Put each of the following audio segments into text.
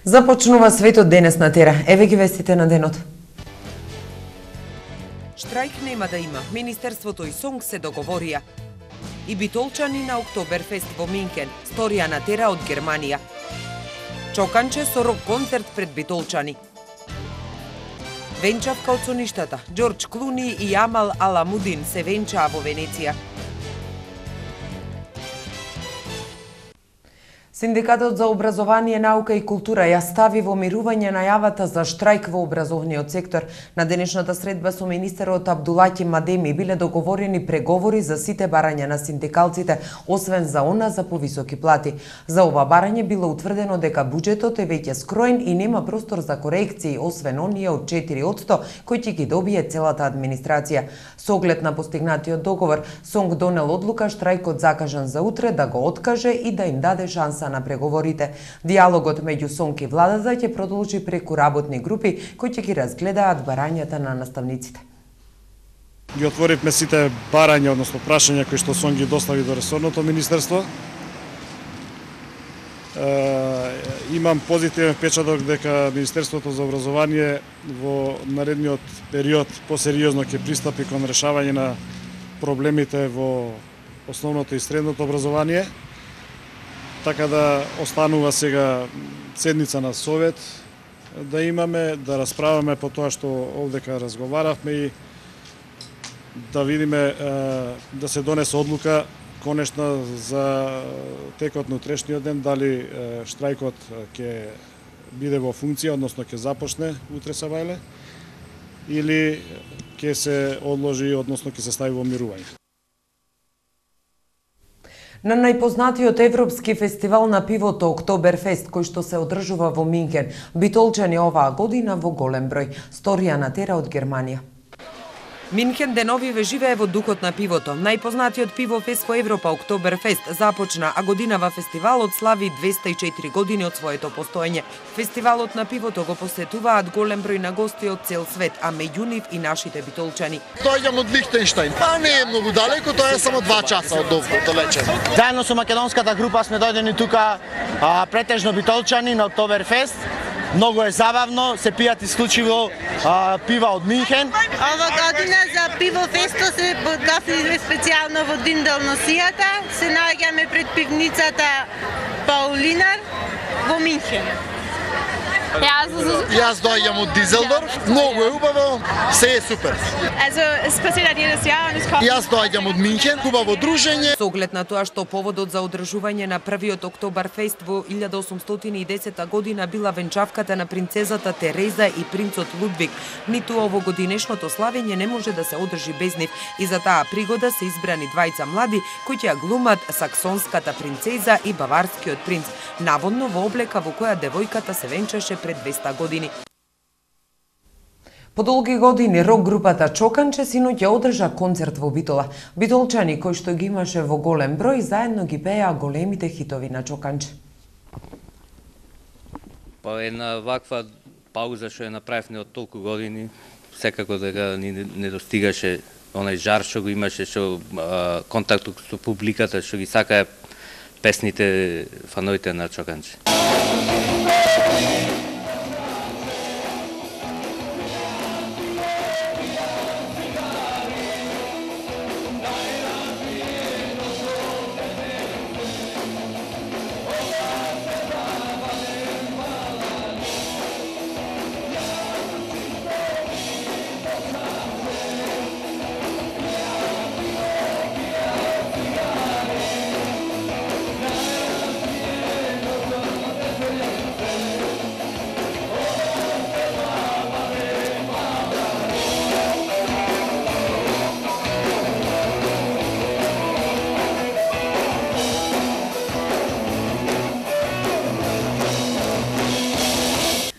Започнува светот денес на Тера. Еве ги вестите на денот. Штрајк нема да има. Министерството и СОНГ се договорија. И битолчани на Октоберфест во Минхен. Сторија на Тера од Германија. Чоканче со рок концерт пред битолчани. Венчавка од соништата. Џорџ Клуни и Амал Аламудин се венчаа во Венеција. Синдикатот за образование, наука и култура ја стави во мирување најавата за штрајк во образовниот сектор. На денешната средба со министерот Абдулаки Мадеми биле договорени преговори за сите барања на синдикалците, освен за она за повисоки плати. За ова барање било утврдено дека буџетот е веќе скроен и нема простор за корекции, освен оние од 4% кои ќе ги добие целата администрација. Со оглед на постигнатиот договор, СОНГ донел одлука штрајкот закажан за утре да го откаже и да им даде шанса на преговорите. Диалогот меѓу СОНГ и владата ќе продолжи преку работни групи кои ќе ги разгледаат барањата на наставниците. Ги отворивме сите барања, односно прашања кои што СОНГ ги достави до ресорното министерство. Имам позитивен впечаток дека Министерството за образование во наредниот период посериозно ќе пристапи кон решавање на проблемите во основното и средното образование. Така да останува сега седница на совет да имаме, да расправаме по тоа што овдека разговаравме и да видиме да се донесе одлука конечно за текот на утрешниот ден, дали штрајкот ќе биде во функција, односно ќе започне утре сабајле, или ќе се одложи, односно ќе се стави во мирување. На најпознатиот европски фестивал на пивото Октоберфест, кој што се одржува во Минхен, битолчани оваа година во голем број. Сторија на Тера од Германија. Минхен деновиве живее во духот на пивото. Најпознатиот пивофест во Европа, Октоберфест, започна, а годинава фестивалот слави 204 години од своето постоење. Фестивалот на пивото го посетуваат голем број на гости од цел свет, а меѓу нив и нашите битолчани. Доаѓам од Лихтенштајн. Па не е многу далеко, тоа е само 2 часа од овде, далече. Заедно со македонската група сме дојдени тука претежно битолчани на Октоберфест. Многу е забавно, се пијат исклучиво пива од Минхен. Ова година за пивофесто се подготвиле специјално во Динделносијата. Се наоѓаме пред пивницата Паулинар во Минхен. Јас доаѓам од Дизелдорф, многу е убаво, се е супер. Јас доаѓам од Минхен, убаво дружење. Со оглед на тоа што поводот за одржување на првиот Октоберфест во 1810 година била венчавката на принцезата Тереза и принцот Лудвиг, ниту овогодинешното славење не може да се одржи без нив и за таа пригода се избрани двајца млади кои ќе ја глумат саксонската принцеза и баварскиот принц, наводно во облека во која девојката се венчаше пред 200 години. По долги години рок групата Чоканче синоќ ја одржа концерт во Битола. Битолчани кои што ги имаше во голем број заедно ги пеа големите хитови на Чоканче. Па една ваква пауза што ја направивме од толку години, секако дека ни недостигаше онај жар што го имаше, што контактот со публиката, што ги сакаа песните фановите на Чоканче.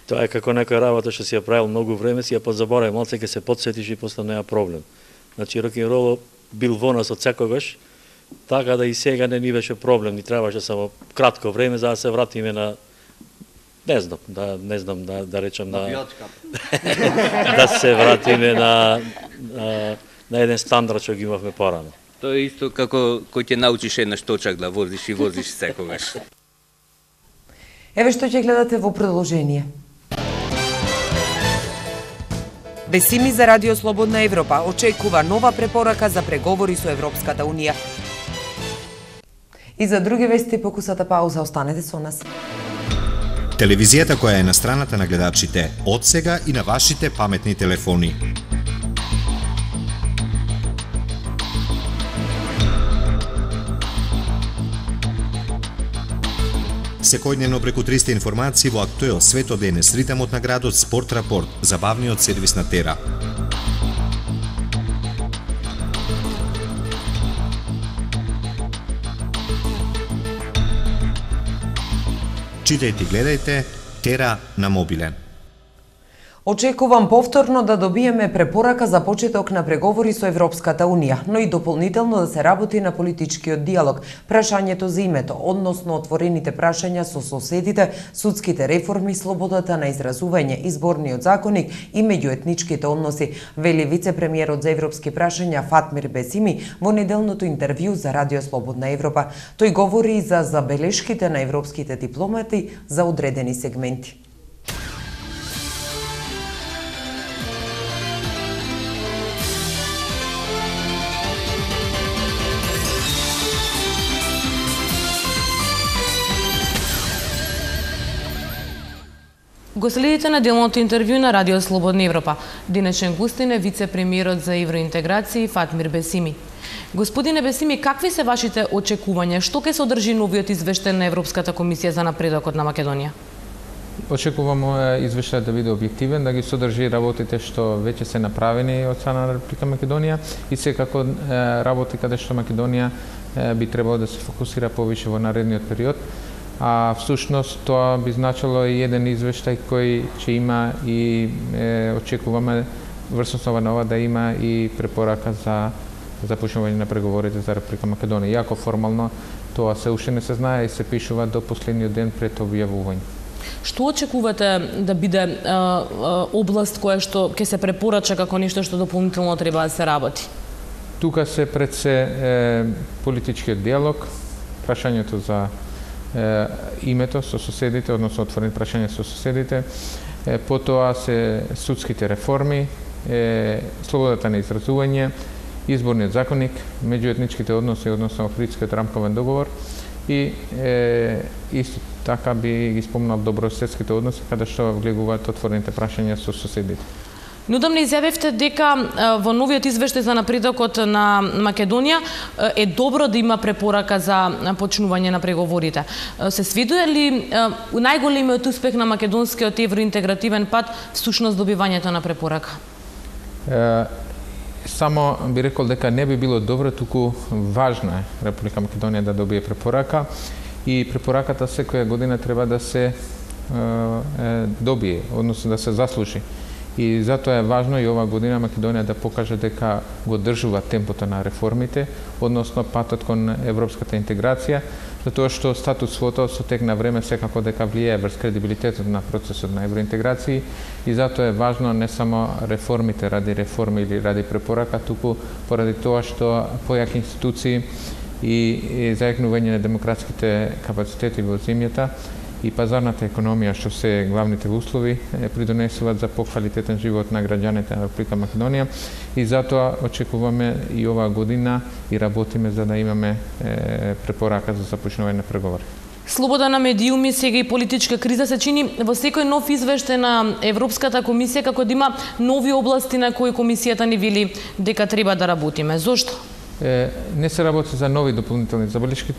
Тоа е како некоја работа што си ја правил многу време, си ја позаборави, малце ќе се потсетиш и после неа проблем. Значи, рок-н-рол бил во нас од секогаш, така да и сега не ни беше проблем, ни требаше само кратко време за да се вратиме на не знам да речам на да се вратиме на еден стандард што ги имавме порано. Тоа е исто како кој ќе научиш еднаш точак да возиш и возиш секогаш. Еве што ќе гледате во продолжение. Бесими за Радио Слободна Европа очекува нова препорака за преговори со Европската Унија. И за други вести покусата пауза, останете со нас. Телевизијата која е на страната на гледачите, од сега и на вашите паметни телефони. Секојдневно преку 300 информации во актуел светот денес, ритамот на градот, спорт рапорт, забавниот сервис на Тера. Читајте и гледајте Тера на мобилен. Очекувам повторно да добиеме препорака за почеток на преговори со Европската Унија, но и дополнително да се работи на политичкиот диалог, прашањето за името, односно отворените прашања со соседите, судските реформи, слободата на изразување, изборниот законник и меѓуетничките односи, вели вице-премиерот за европски прашања Фатмир Бесими во неделното интервју за Радио Слободна Европа. Тој говори и за забелешките на европските дипломати за одредени сегменти. Го следите неделното интервју на Радио Слободна Европа. Денешен гостин е вице-премиерот за евроинтеграција Фатмир Бесими. Господине Бесими, какви се вашите очекувања? Што ќе содржи новиот извештај на Европската комисија за напредокот на Македонија? Очекуваме извештајот да биде објективен, да ги содржи работите што веќе се направени од страна на Република Македонија и секако работи каде што Македонија би требало да се фокусира повише во наредниот период. А всушност тоа би значило и еден извештај кој ќе има и очекуваме врз основа на ова да има и препорака за започнување на преговорите за Република Македонија. Иако формално тоа се уште не се знае и се пишува до последниот ден пред објавување. Што очекувате да биде област која што ќе се препорача како нешто што дополнително треба да се работи? Тука се пред се политичкиот диалог, прашањето за името со соседите, односно отворени прашања со соседите, потоа се судските реформи, слободата на изразување, изборниот законник, меѓуетничките односи, односно Охридскиот рамковен договор и исто така би ги спомнал добрососедските односи каде што влегуваат отворените прашања со соседите. Неодамна изјавивте дека во новиот извештај за напредокот на Македонија е добро да има препорака за почнување на преговорите. Се свидува ли најголемиот успех на македонскиот евроинтегративен пат всушност добивањето на препорака? Само би рекол дека не би било добро, туку важно е Република Македонија да добие препорака и препораката секоја година треба да се добие, односно да се заслужи. И затоа е важно и ова година Македонија да покаже дека го држува темпото на реформите, односно патот кон европската интеграција, затоа што статусвото со тек на време секако дека влијае врз кредибилитетот на процесот на евроинтеграција и затоа е важно не само реформите ради реформи или ради препорака, туку поради тоа што појаки институции и зајакнување на демократските капацитети во земјата и пазарната економија, што се главните услови, придонесуваат за поквалитетен живот на граѓаните на Република Македонија и затоа очекуваме и оваа година и работиме за да имаме препорака за започнување на преговори. Слобода на медиуми, сега и политичка криза се чини во секој нов извештај на Европската комисија како да има нови области на кои комисијата ни вели дека треба да работиме. Зошто? Не се работи за нови дополнителни забелешки,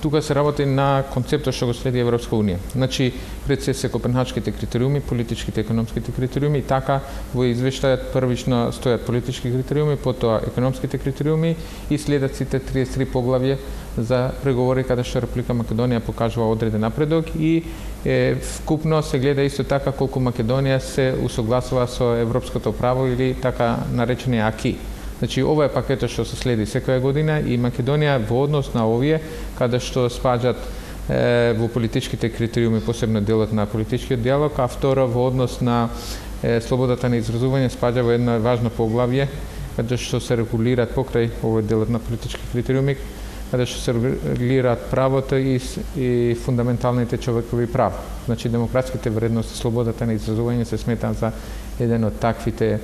тука се работи на концептот што го следи Европска Унија. Значи, пред се копенхачките критериуми, политичките и економските критериуми, и така во извештајот првично стојат политички критериуми, потоа економските критериуми и следат сите 33 поглавје за преговори каде што Република Македонија покажува одреден напредок и вкупно се гледа исто така колку Македонија се усогласува со европското право или така наречени аки. Значи, ова е пакетот што се следи секоја година и Македонија во однос на овие, каде што спаѓаат во политичките критериуми, посебно делот на политичкиот диалог, а второ во однос на слободата на изразување спаѓа во едно важно поглавје, каде што се регулираат покрај овој делот на политички критериуми, каде што се регулираат правото и фундаменталните човекови права. Значи, демократските вредности, слободата на изразување се смета за еден од таквите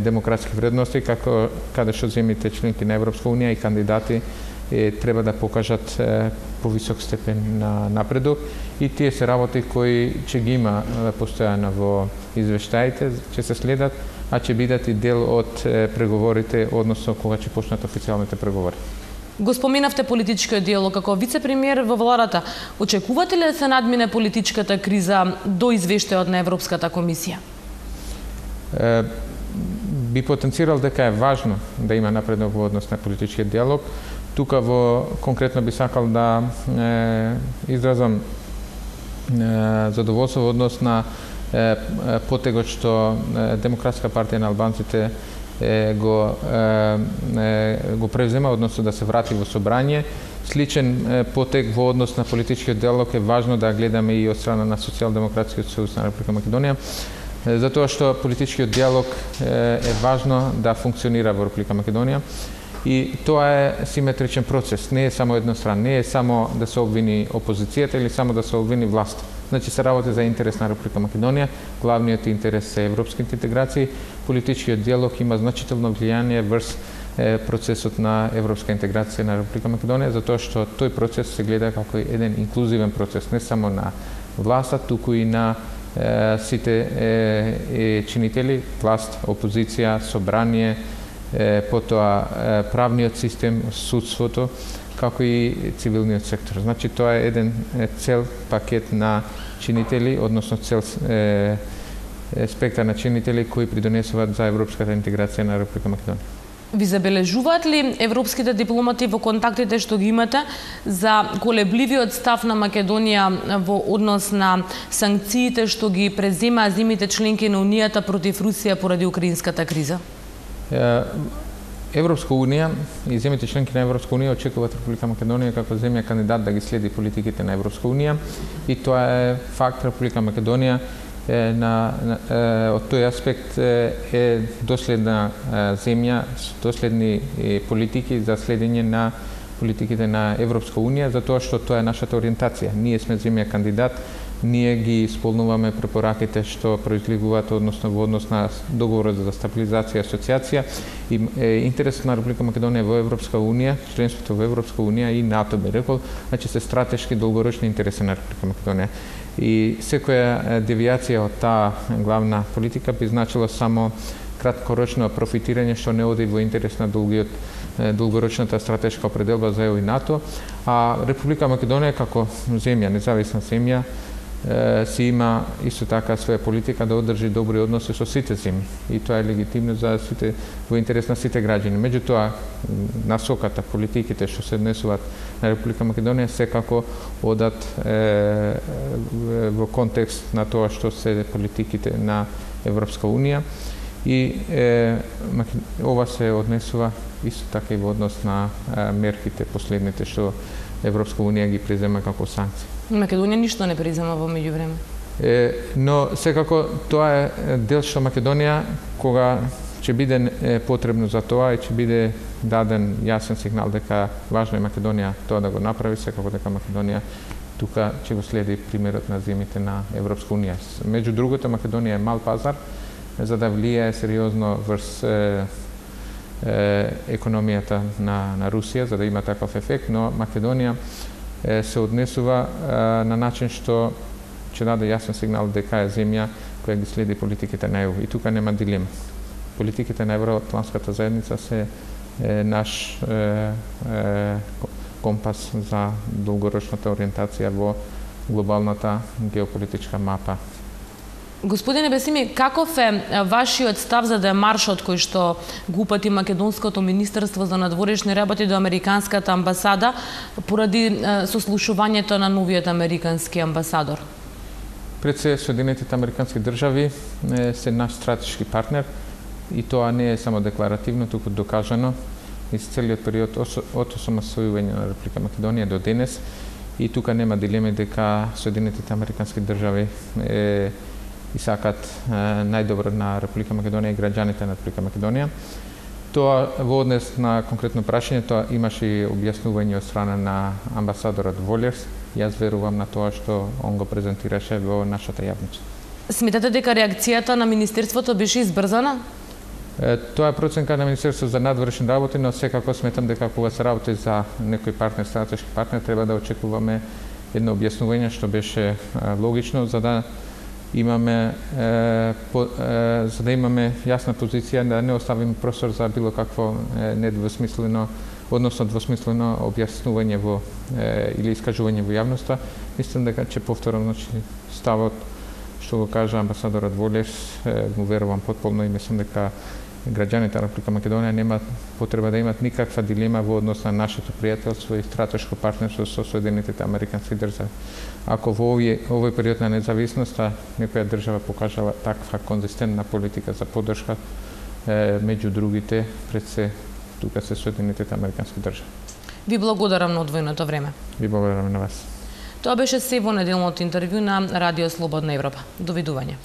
демократски вредности, каде што земјите членки на Европска Унија и кандидати треба да покажат повисок степен на напредок, и тие се работи кои ќе ги има постојано во извештаите, ќе се следат, а ќе бидат и дел од преговорите, односно кога ќе почнат официјалните преговори. Го споменавте политичкиот диалог како вице-премиер во владата. Очекувате ли да се надмине политичката криза до извештајот на Европската комисија? Би потенцирал дека е важно да има напредок во однос на политичкиот диалог. Тука конкретно би сакал да изразам задоволство во однос на потегот што Демократска партија на албанците го превзема, односно да се врати во собрање. Сличен потег во однос на политичкиот диалог е важно да гледаме и од страна на Социјалдемократскиот сојуз на Република Македонија, затоа што политичкиот диалог е важно да функционира во Република Македонија. И тоа е симетричен процес, не е само едностран, не е само да се обвини опозицијата или само да се обвини власт. Значи се работи за интерес на Република Македонија, главниот интерес е европските интеграции, политичкиот диалог има значително влијание врз процесот на европска интеграција на Република Македонија, затоа што тој процес се гледа како еден инклузивен процес, не само на власта, туку и на сите чинители, власт, опозиција, собрание, потоа правниот систем, судството, како и цивилниот сектор. Значи, тоа е еден цел пакет на чинители, односно цел спектар на чинители кои придонесуваат за европската интеграција на Република Македонија. Ви забележуваат ли европските дипломати во контактите што ги имате за колебливиот став на Македонија во однос на санкциите што ги преземаа земјите членки на Унијата против Русија поради украинската криза? Европска Унија и земјите членки на Европска Унија очекуваат Република Македонија како земја кандидат да ги следи политиките на Европска Унија, и тоа е факт. Република Македонија од тој аспект е доследна земја, доследни политики за следење на политиките на Европска Унија, затоа што тоа е нашата ориентација. Ние сме земја кандидат, ние ги исполнуваме препораките што произлегуваат односно во однос на договорот за стабилизација и асоциација, и интересот на Република Македонија во Европска Унија, членството во Европска Унија и НАТО, би рекол, значи се стратешки долгорочни интереси на Република Македонија. И секоја девијација од таа главна политика би значило само краткорочно профитирање што не оди во интерес на долгорочната стратешка определба за ЕУ и НАТО, а Република Македонија како земја, независна земја, си има исто така своја политика да одржи добри односи со сите земји, и тоа е легитимно за сите, во интерес на сите граѓани. Меѓутоа, насоката, политиките што се однесуваат на Република Македонија секако одат во контекст на тоа што се политиките на Европска Унија, и ова се однесува исто така и во однос на мерките последните што Европска Унија ги презема како санкции. Македонија ништо не презема во меѓувреме. Но секако тоа е дел што Македонија, кога ќе биде потребно за тоа и ќе биде даден јасен сигнал дека важно е Македонија тоа да го направи, секако дека Македонија тука ќе го следи примерот на земјите на Европска Унија. Меѓу другото, Македонија е мал пазар, за да влијае сериозно врз економијата на Русија, за да има таков ефект, но Македонија се однесува на начин што ќе даде јасен сигнал дека е земја која ги следи политиките на ЕУ. И тука нема дилема. Политиките на Евроатлантската заедница се наш компас за долгорочната ориентација во глобалната геополитичка мапа. Господине Бесими, каков е вашиот став за демаршот кој што го упати Македонското министерство за надворешни работи до Американската амбасада поради сослушувањето на новиот американски амбасадор? Пред се, Соединетите американски држави се наш стратешки партнер, и тоа не е само декларативно, туку докажано из целиот период од осамостојување на Република Македонија до денес, и тука нема дилеми дека Соединетите американски држави и сакат најдобро на Република Македонија и граѓаните на Република Македонија. Тоа во однес на конкретно прашање, тоа имаше и објаснување од страна на амбасадорот Волерс. Јас верувам на тоа што он го презентираше во нашата јавност. Сметате дека реакцијата на Министерството беше избрзана? Тоа е проценка на Министерството за надвршни работи, но секако сметам дека кога се работи за некој партнер, стратешки партнер, треба да очекуваме едно објаснување што беше логично за да имаме јасна позиција, да не оставиме простор за било какво недвосмислено, односно двосмислено објаснување во или искажување во јавноста. Мислам дека ќе повторам, значи, ставот што го кажа амбасадорот Волерс, му верувам потполно и мислам дека граѓаните на Република Македонија нема потреба да имат никаква дилема во однос на нашето пријателство и стратешко партнерство со Соединетите Американски држави. Ако во овој период на независноста некоја држава покажала таква конзистентна политика за поддршка, меѓу другите, пред се, тука се Соединетите Американски држави. Ви благодарам на одвоеното време. Ви благодарам на вас. Тоа беше се во неделното интервју на Радио Слободна Европа. Довидување.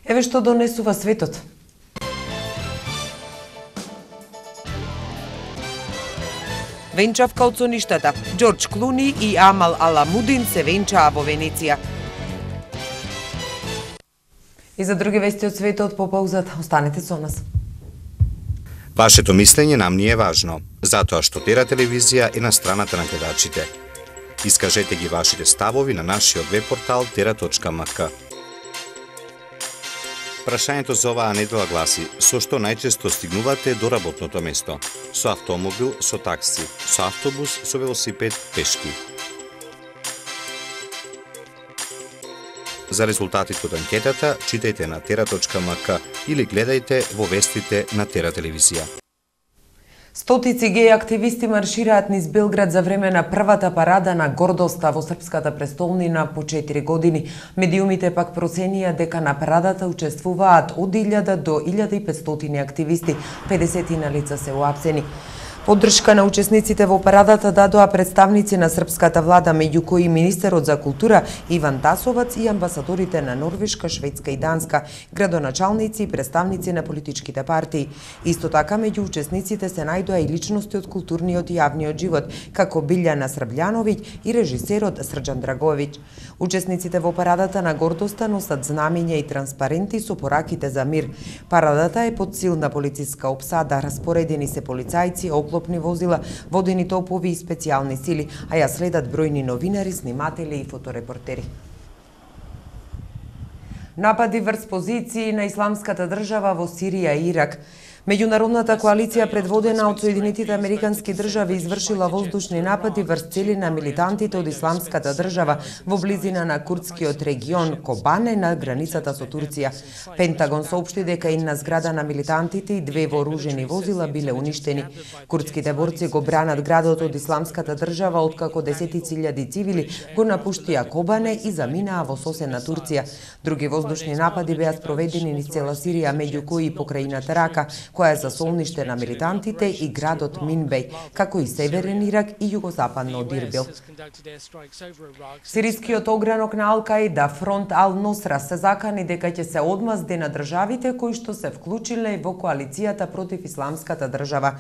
Еве што донесува светот. Венчавка од соништата. Џорџ Клуни и Амал Аламудин се венчаа во Венеција. И за други вести од светот по паузата, останете со нас. Вашето мислење нам ни е важно, затоа што Тера телевизија е на страната на гледачите. Искажете ги вашите ставови на нашиот веб портал tera.mk. Прашањето за оваа недела гласи: со што најчесто стигнувате до работното место? Со автомобил, со такси, со автобус, со велосипед, пешки? За резултатите од анкетата читајте на tera.mk или гледајте во вестите на Тера телевизија. Стотици геј активисти маршираат низ Белград за време на првата парада на гордоста во српската престолнина по 4 години. Медиумите пак проценија дека на парадата учествуваат од 1000 до 1500 активисти, 50 на лица се уапсени. Поддршка на учесниците во парадата дадоа представници на српската влада, меѓу кои министерот за култура Иван Тасовац и амбасадорите на Норвешка, Шведска и Данска, градоначалници и представници на политичките партии. Исто така меѓу учесниците се најдоа и личности од културниот и јавниот живот, како Билјана Србљановиќ и режисерот Срџан Драговиќ. Учесниците во парадата на гордоста носат знамиња и транспаренти со пораките за мир. Парадата е под силна полициска опсада, распоредени се полицајци, оклопни возила, водени топови и специјални сили, а ја следат бројни новинари, сниматели и фоторепортери. Напади врз позиции на Исламската држава во Сирија и Ирак. Меѓународната коалиција предводена од Соединетите Американски држави извршила воздушни напади врз цели на милитантите од Исламската држава во близина на курдскиот регион Кобане на границата со Турција. Пентагон соопшти дека една зграда на милитантите и 2 вооружени возила биле уништени. Курдските борци го бранат градот од Исламската држава откако десетици илјади цивили го напуштија Кобане и заминаа во соседна Турција. Други воздушни напади беа спроведени низ цела Сирија, меѓу кои и покрајната Рака, која е за солниште на милитантите, и градот Минбеј, како и Северен Ирак и југозападно од Ирбил. Сирискиот огранок на Ал-Каида, фронт Ал-Носра, се закани дека ќе се одмазди на државите кои што се вклучиле во коалицијата против Исламската држава.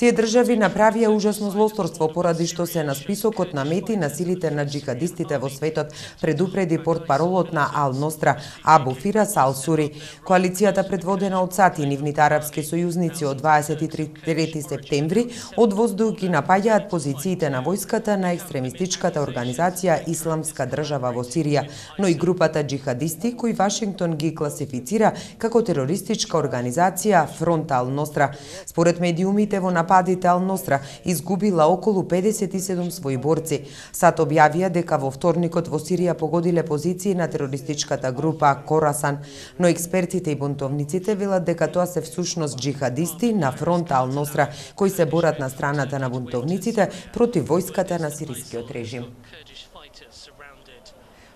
Тие држави направија ужасно злосторство поради што се на списокот на мети на силите на џихадистите во светот, предупреди портпаролот на Ал-Ностра Абу Фирас Ал-Сури. Коалицијата предводена од САД и нивните арапски сојузници од 23 септември од воздух ги напаѓаат позициите на војската на екстремистичката организација Исламска држава во Сирија, но и групата џихадисти кои Вашингтон ги класифицира како терористичка организација Фронт Ал-Ностра. Според медиумите во нападите Ал-Ностра изгубила околу 57 своји борци. САД објавија дека во вторникот во Сирија погодиле позиции на терористичката група Корасан, но експертите и бунтовниците велат дека тоа се всушност џихадисти на фронт Ал-Ностра кои се борат на страната на бунтовниците против војската на сирискиот режим.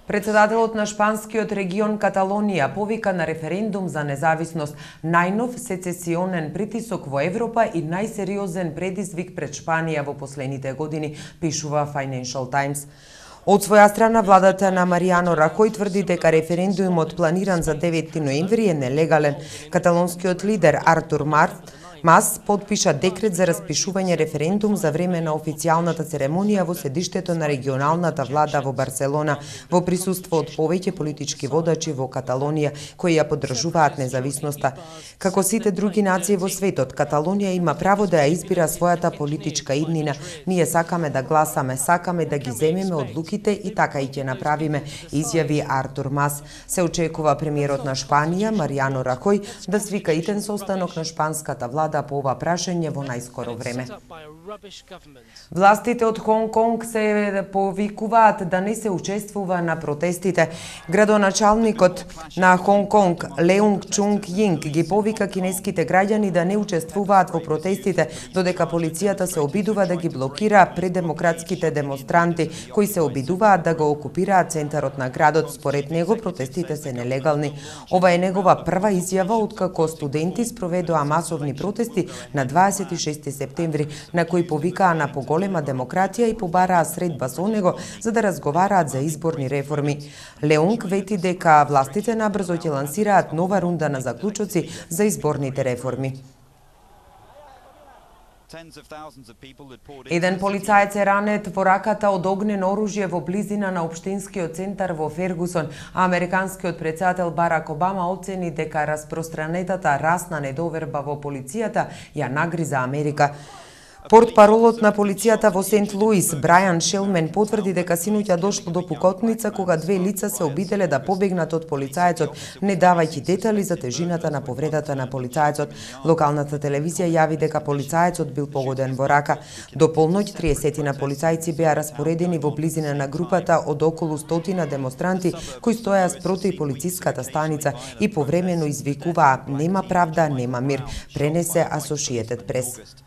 Председателот на шпанскиот регион Каталонија повика на референдум за независност, најнов сецесионен притисок во Европа и најсериозен предизвик пред Шпанија во последните години, пишува Financial Times. Од своја страна, владата на Маријано Рахој тврди дека референдумот планиран за 9 ноември е нелегален. Каталонскиот лидер Артур Мас подпиша декрет за распишување референдум за време на официјалната церемонија во седиштето на регионалната влада во Барселона, во присуство од повеќе политички водачи во Каталонија кои ја поддржуваат независноста. Како сите други нации во светот, Каталонија има право да ја избира својата политичка иднина. Ние сакаме да гласаме, сакаме да ги земеме одлуките и така и ќе направиме, изјави Артур Мас. Се очекува премиерот на Шпанија, Маријано Рахој, да свика итен состанок на шпанската влада по ова прашање во најскоро време. Властите од Хонг Конг се повикуваат да не се учествува на протестите. Градоначалникот на Хонг Конг, Леунг Чунг Јинг, ги повика кинеските граѓани да не учествуваат во протестите, додека полицијата се обидува да ги блокира предемократските демонстранти, кои се обидуваат да го окупираат центарот на градот. Според него, протестите се нелегални. Ова е негова прва изјава откако студенти спроведоа масовни протести на 26 септември, на кои повикаа на поголема демократија и побараа средба со него за да разговараат за изборни реформи. Леунг вети дека властите набрзо ќе лансираат нова рунда на заклучоци за изборните реформи. Еден полицаец е ранет во раката од огнено оружје во близина на општинскиот центар во Фергусон, а американскиот претседател Барак Обама оцени дека распространетата расна недоверба во полицијата ја нагриза Америка. Портпаролот на полицијата во Сент Луис, Брајан Шелмен, потврди дека синоќа дошло до пукотница кога две лица се обиделе да побегнат од полицаецот, не давајќи детали за тежината на повредата на полицаецот. Локалната телевизија јави дека полицаецот бил погоден во рака. До полноќ 30 на полицајци беа распоредени во близина на групата од околу 100 демонстранти кои стоеа спроти полициската станица и повремено извикуваа "Нема правда, нема мир", пренесе Associated Press.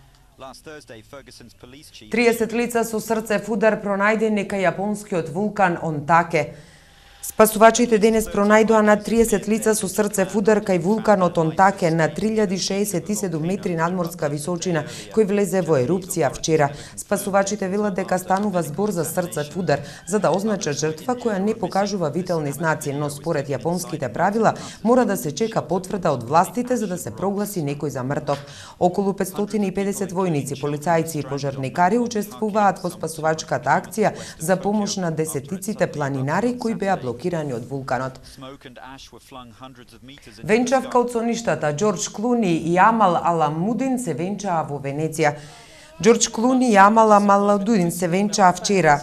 30 лица со срцев удар пронајдени кај јапонскиот вулкан Онтаке. Спасувачите денес пронајдоа над 30 лица со срцев удар кај вулканот Онтаке на 3067 метри надморска височина, кој влезе во ерупција вчера. Спасувачите велат дека станува збор за срцев удар, за да означат жртва која не покажува вителни знаци, но според јапонските правила мора да се чека потврда од властите за да се прогласи некој за мртов. Околу 550 војници, полицајци и пожарникари учествуваат во спасувачката акција за помош на десетиците планинари кои беа блокирани од вулканот. Венчавка од соништата Џорџ Клуни и Амал Аламудин се венчаа во Венеција. Џорџ Клуни и Амал Аламудин се венчаа вчера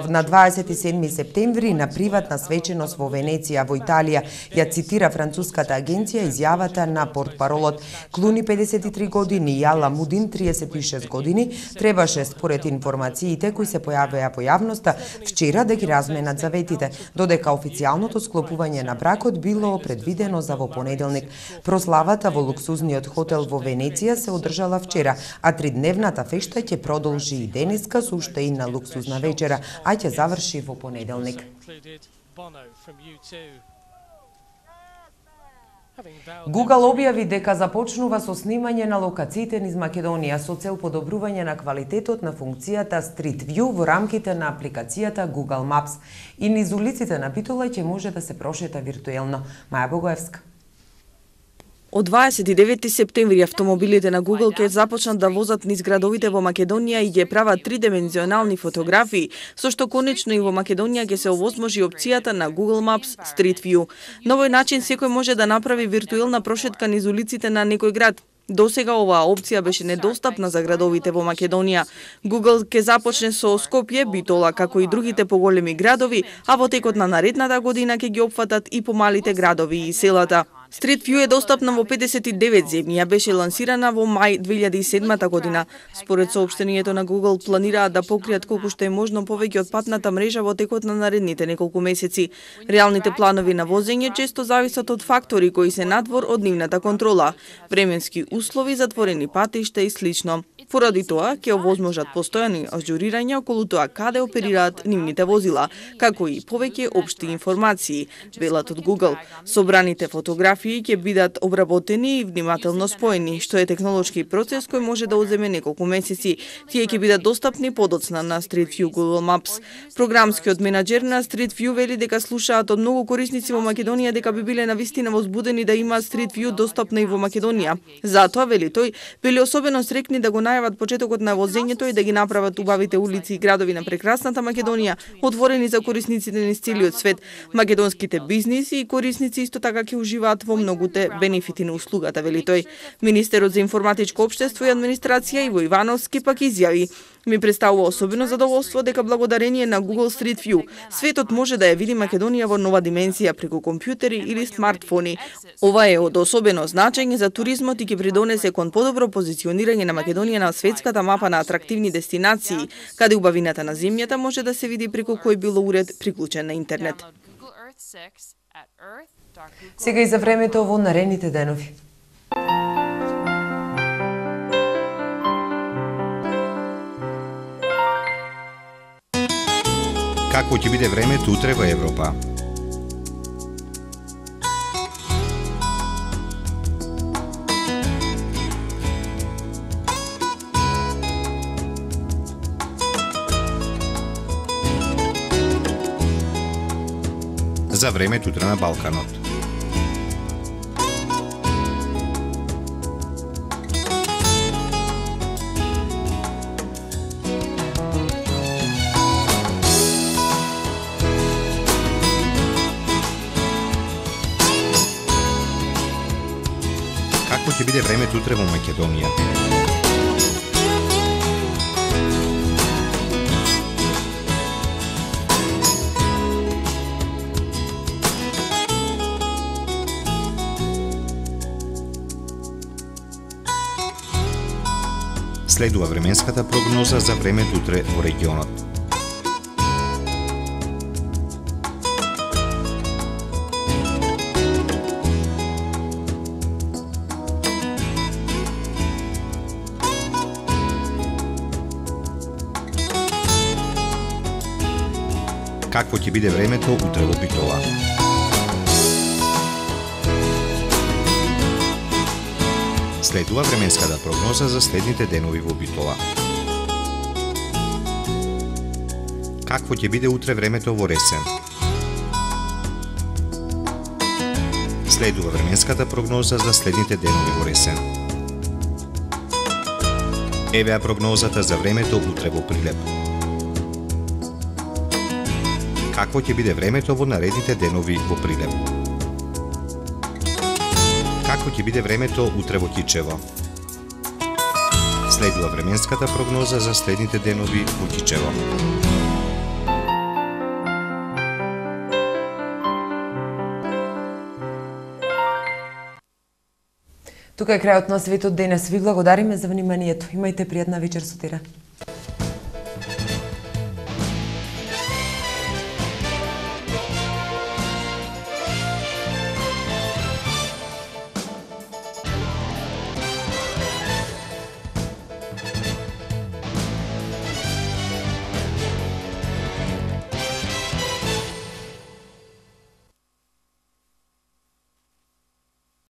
на 27 септември на приватна свеченост во Венеција, во Италија, ја цитира француската агенција изјавата на портпаролот. Клуни 53 години и Аламудин 36 години требаше според информациите кои се појавија во јавноста вчера да ги разменат заветите, додека официјалното склопување на бракот било предвидено за во понеделник. Прославата во луксузниот хотел во Венеција се одржала вчера, а тридневната фешта ќе продолжи и денеска со уште една луксузна вечера, а ќе заврши во понеделник. Google објави дека започнува со снимање на локациите низ Македонија со цел подобрување на квалитетот на функцијата Street View во рамките на апликацијата Google Maps. И низ улиците на Битола ќе може да се прошета виртуелно. Маја Богоевска. Од 29 септември автомобилите на Google ќе започнат да возат низ градовите во Македонија и ќе прават тридимензионални фотографии, со што конечно и во Македонија ќе се овозможи опцијата на Google Maps Street View. На овој начин секој може да направи виртуелна прошетка низ улиците на некој град. Досега оваа опција беше недостапна за градовите во Македонија. Google ќе започне со Скопје, Битола, како и другите поголеми градови, а во текот на наредната година ќе ги опфатат и помалите градови и селата. Street View е достапна во 59 земји, ја беше лансирана во мај 2007 година. Според соопштението на Google планираат да покријат колку што е можно повеќе од патната мрежа во текот на наредните неколку месеци. Реалните планови на возење често зависат од фактори кои се надвор од нивната контрола, временски услови, затворени патишта и слично. Поради тоа, ќе овозможат постојани ажурирања околу тоа каде оперираат нивните возила, како и повеќе општи информации, велат од Google. Собраните фотографии ќе бидат обработени и внимателно споени, што е технолошки процес кој може да одземе неколку месеци. Тие ќе бидат достапни подоцна на Street View Google Maps. Програмскиот менаџер на Street View вели дека слушаат од многу корисници во Македонија дека би биле навистина возбудени да имаат Street View достапна и во Македонија. Затоа, вели тој, биле особено срекни да го најават почетокот на возењето и да ги направат убавите улици и градови на прекрасната Македонија отворени за корисниците низ целиот свет. Македонските бизниси и корисници исто така ќе уживаат во многуте бенефити на услугата, вели тој. Министерот за информатичко општество и администрација Иво Ивановски пак изјави: Ми представува особено задоволство дека благодарение на Google Street View светот може да ја види Македонија во нова димензија преку компјутери или смартфони. Ова е од особено значење за туризмот и ќе придонесе кон подобро позиционирање на Македонија на светската мапа на атрактивни дестинации, каде убавината на земјата може да се види преку кој било уред приклучен на интернет. Сега и за времето во наредните денови. Какво ќе биде времето утре во Европа? За времето утре на Балканот. Какво ќе биде времето утре во Македонија? Следува временската прогноза за времето утре во регионот. Какво ќе биде времето утре во Битола? Следува временската прогноза за следните денови во Битола. Какво ќе биде утре времето во Ресен? Следува временската прогноза за следните денови во Ресен. Евеа прогнозата за времето утре во Прилеп. Какво ќе биде времето во наредните денови во Прилеп? Какво ќе биде времето утре во Кичево? Следува временската прогноза за следните денови во Кичево. Тука е крајот на светот денес. Ви благодариме за вниманието. Имајте пријатна вечер, сутира.